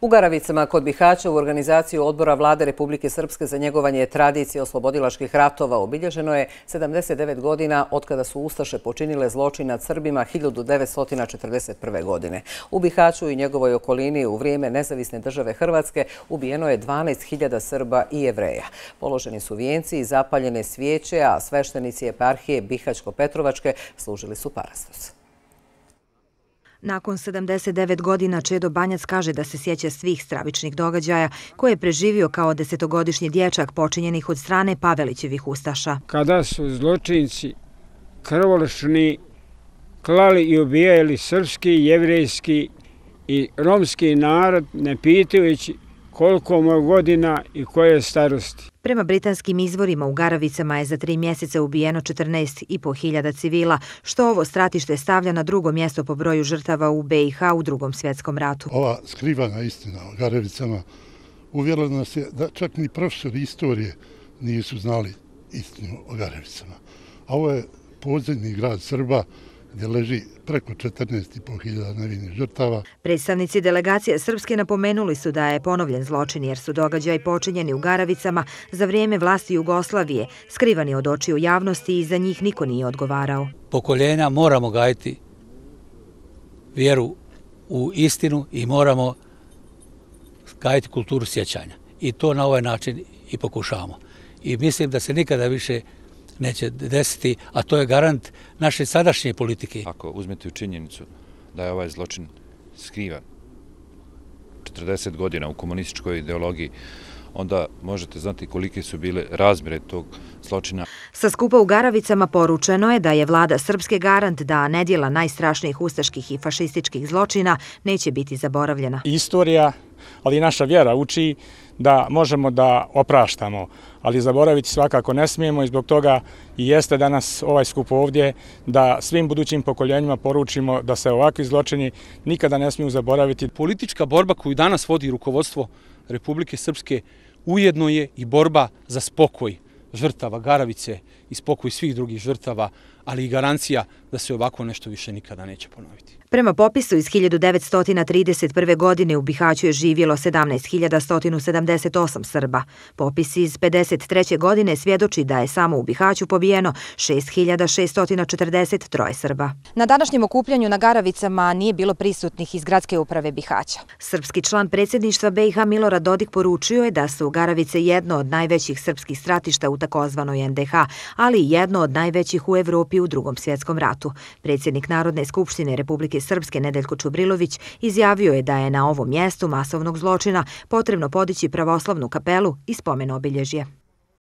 U Garavicama kod Bihaća u organizaciju Odbora Vlade Republike Srpske za njegovanje tradicije oslobodilačkih ratova obilježeno je 79 godina otkada su ustaše počinile zločin nad Srbima 1941. godine. U Bihaću i njegovoj okolini u vrijeme nezavisne države Hrvatske ubijeno je 12.000 Srba i Jevreja. Položeni su vijenci i zapaljene svijeće, a sveštenici eparhije Bihaćko-Petrovačke služili su parastos. Nakon 79 godina Čedo Banjac kaže da se sjeća svih stravičnih događaja koje je preživio kao 10-godišnji dječak počinjenih od strane Pavelićevih ustaša. Kada su zločinci krvoločni klali i ubijali srpski, jevrejski i romski narod, ne pitajući koliko mu je godina i koje starosti. Prema britanskim izvorima u Garavicama je za 3 mjeseca ubijeno 14.500 civila, što ovo stratište stavlja na drugo mjesto po broju žrtava u BiH u Drugom svjetskom ratu. Ova skrivana istina o Garavicama uvjerila nas je da čak ni profesori istorije nisu znali istinu o Garavicama. A ovo je podzemni grad Srba gdje leži preko 14.500 nevinih žrtava. Predstavnici delegacije Srpske napomenuli su da je ponovljen zločin jer su događaji počinjeni u Garavicama za vrijeme vlasti Jugoslavije, skrivani od očiju javnosti i za njih niko nije odgovarao. Pokoljenja moramo gajiti vjeru u istinu i moramo gajiti kulturu sjećanja. I to na ovaj način i pokušavamo. I mislim da se nikada više neće desiti, a to je garant naše sadašnje politike. Ako uzmete u činjenicu da je ovaj zločin skrivan 40 godina u komunističkoj ideologiji, onda možete znati kolike su bile razmjere tog zločina. Sa skupa u Garavicama poručeno je da je vlada Srpske garant da nedjela najstrašnijih ustaških i fašističkih zločina neće biti zaboravljena. Istorija, ali i naša vjera uči da možemo da opraštamo, ali zaboraviti svakako ne smijemo i zbog toga i jeste danas ovaj skup ovdje da svim budućim pokoljenjima poručimo da se ovakvi zločini nikada ne smiju zaboraviti. Politička borba koju danas vodi rukovodstvo Republike Srpske ujedno je i borba za spokoj žrtava Garavice i spokoj svih drugih žrtava, ali i garancija da se ovako nešto više nikada neće ponoviti. Prema popisu iz 1931. godine u Bihaću je živjelo 17.178 Srba. Popis iz 1953. godine svjedoči da je samo u Bihaću pobijeno 6.643 Srba. Na današnjem okupljanju na Garavicama nije bilo prisutnih iz gradske uprave Bihaća. Srpski član predsjedništva BiH Milorad Dodik poručio je da su Garavice jedno od najvećih srpskih stratišta u takozvanoj NDH, ali i jedno od najvećih u Evropi u Drugom svjetskom ratu. Predsjednik Narodne skupštine Republike Srpske Nedeljko Čubrilović izjavio je da je na ovom mjestu masovnog zločina potrebno podići pravoslavnu kapelu i spomen obilježje.